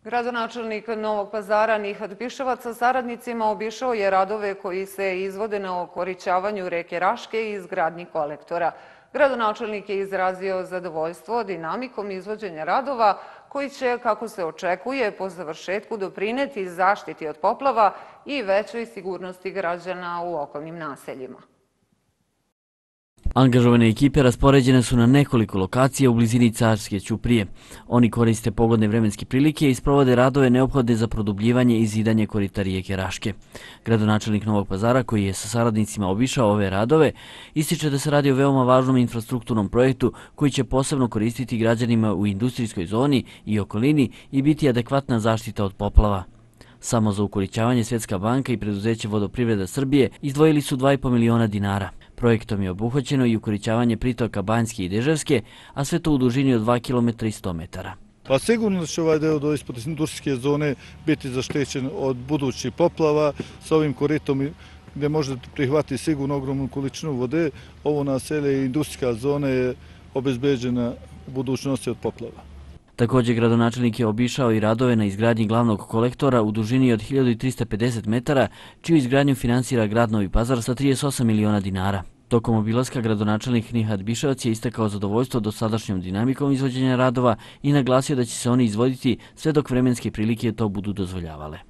Gradonačelnik Novog Pazara Nihat Biševac sa saradnicima obišao je radove koji se izvode na okorićavanju reke Raške i izgradnji kolektora. Gradonačelnik je izrazio zadovoljstvo dinamikom izvođenja radova koji će, kako se očekuje, po završetku doprineti zaštiti od poplava i većoj sigurnosti građana u okolnim naseljima. Angažovane ekipe raspoređene su na nekoliko lokacija u blizini Carske ćuprije. Oni koriste pogodne vremenske prilike i sprovode radove neophodne za produbljivanje i zidanje korita rijeke Raške. Gradonačelnik Novog Pazara, koji je sa saradnicima obišao ove radove, ističe da se radi o veoma važnom infrastrukturnom projektu koji će posebno koristiti građanima u industrijskoj zoni i okolini i biti adekvatna zaštita od poplava. Samo za ukorićavanje Svjetska banka i preduzeće Vodoprivreda Srbije izdvojili su 2,5 miliona dinara. Projektom je obuhvaćeno i ukorićavanje pritoka Banjske i Deževske, a sve to u dužini od 2 km i 100 metara. Pa sigurno će ovaj deo ispod industrijske zone biti zaštićen od budućih poplava. Sa ovim koritom gdje možete prihvatiti sigurno ogromnu količinu vode, ovo naselje i industrijska zona je obezbeđena u budućnosti od poplava. Također, gradonačelnik je obišao i radove na izgradnji glavnog kolektora u dužini od 1350 metara, čiju izgradnju finansira grad Novi Pazar sa 38 miliona dinara. Tokom obilaska gradonačelnik Nihat Biševac je istakao zadovoljstvo dosadašnjom dinamikom izvođenja radova i naglasio da će se oni izvoditi sve dok vremenske prilike to budu dozvoljavale.